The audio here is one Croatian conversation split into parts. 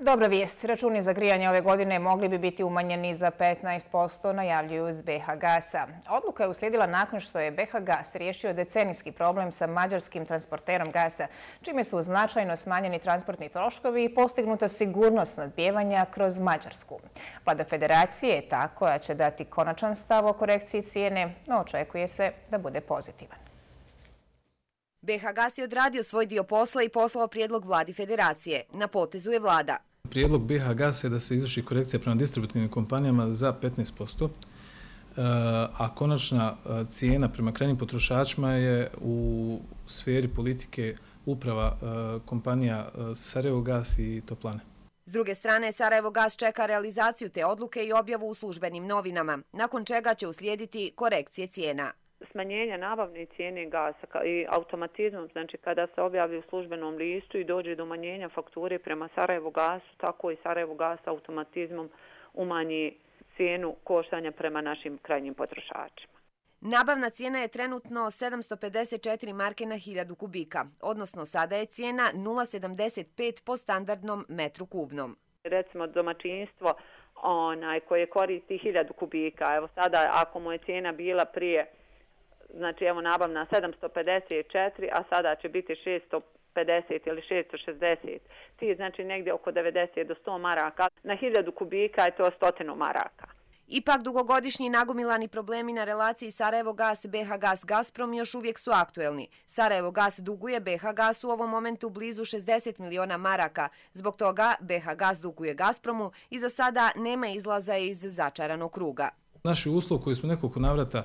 Dobra vijest. Računi za grijanje ove godine mogli bi biti umanjeni za 15%, najavljuju iz BH Gasa. Odluka je uslijedila nakon što je BH Gas riješio decenijski problem sa mađarskim transporterom gasa, čime su značajno smanjeni transportni troškovi i postignuta sigurnost snabdijevanja kroz Mađarsku. Vlada federacije je ta koja će dati konačan stav o korekciji cijene, no očekuje se da bude pozitivan. BH Gas je odradio svoj dio posla i poslao prijedlog vladi federacije. Na potezu je vlada. Prijedlog BH Gasa je da se izvrši korekcija prema distributivnim kompanijama za 15%, a konačna cijena prema krajnjim potrošačima je u sferi politike uprava kompanija Sarajevo Gas i Toplane. S druge strane, Sarajevo Gas čeka realizaciju te odluke i objavu u službenim novinama, nakon čega će uslijediti korekcije cijena. Smanjenje nabavne cijene gasa i automatizmom, znači kada se objavi u službenom listu i dođe do umanjenja fakture prema Sarajevo Gasu, tako i Sarajevo Gas automatizmom umanji cijenu koštanja prema našim krajnjim potrošačima. Nabavna cijena je trenutno 754 marke na 1000 kubika, odnosno sada je cijena 0,75 po standardnom metru kubnom. Recimo domaćinstvo koje koristi 1000 kubika, evo sada ako mu je cijena bila prije, znači evo nabavna 754, a sada će biti 650 ili 660. Ti znači negdje oko 90 do 100 maraka. Na 1000 kubika je to 100 maraka. Ipak dugogodišnji nagomilani problemi na relaciji Sarajevo Gas, BH Gas, Gazprom još uvijek su aktuelni. Sarajevo Gas duguje BH Gasu u ovom momentu blizu 60 miliona maraka. Zbog toga BH Gas duguje Gazpromu i za sada nema izlaza iz začaranog kruga. Naši uslov koji smo nekoliko navrata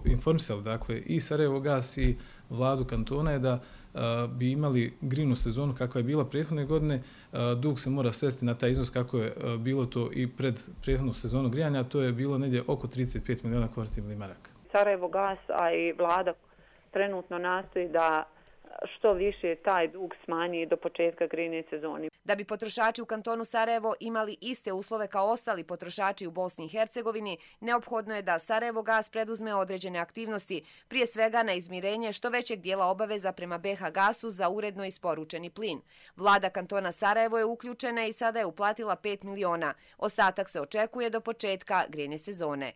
informisali, dakle i Sarajevo Gas i vladu kantona je da bi imali grinu sezonu kakva je bila prethodne godine, dug se mora svesti na taj iznos kako je bilo to i pred prethodnu sezonu grijanja, a to je bilo negdje oko 35 miliona konvertibilnih maraka. Sarajevo Gas, a i vlada trenutno nastoji da što više taj dug smanji do početka grijne sezone. Da bi potrošači u kantonu Sarajevo imali iste uslove kao ostali potrošači u Bosni i Hercegovini, neophodno je da Sarajevo Gas preduzme određene aktivnosti, prije svega na izmirenje što većeg dijela obaveza prema BH Gasu za uredno isporučeni plin. Vlada kantona Sarajevo je uključena i sada je uplatila 5 miliona. Ostatak se očekuje do početka grijne sezone.